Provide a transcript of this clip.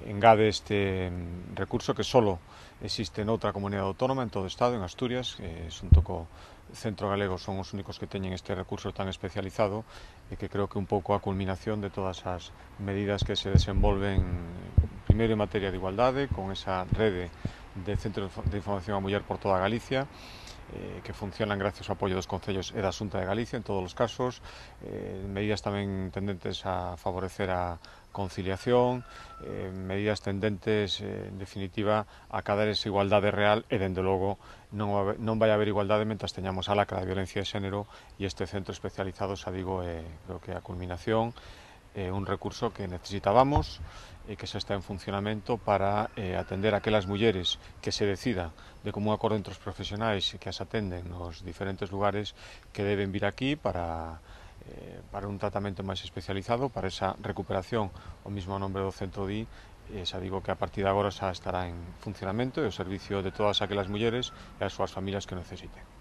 engade este recurso que solo existe noutra comunidade autónoma en todo o Estado, en Asturias, xunto co Centro Galego son os únicos que teñen este recurso tan especializado e que creo que un pouco a culminación de todas as medidas que se desenvolven primeiro en materia de igualdade, con esa rede de centros de información á muller por toda Galicia, que funcionan gracias ao apoio dos concellos e da Xunta de Galicia en todos os casos, medidas tamén tendentes a favorecer a conciliación, medidas tendentes, en definitiva, a cadar esa igualdade real e, dende logo, non vai haber igualdade mentras teñamos a lacra da violencia de xénero e este centro especializado, xa digo, creo que a culminación, un recurso que necesitábamos e que xa está en funcionamento para atender a aquelas mulleres que se decidan de común acordo entre os profesionais e que as atenden nos diferentes lugares que deben vir aquí para un tratamento máis especializado, para esa recuperación, o mismo nombre do centro di, xa digo que a partir de agora xa estará en funcionamento e o servicio de todas aquelas mulleres e as súas familias que necesiten.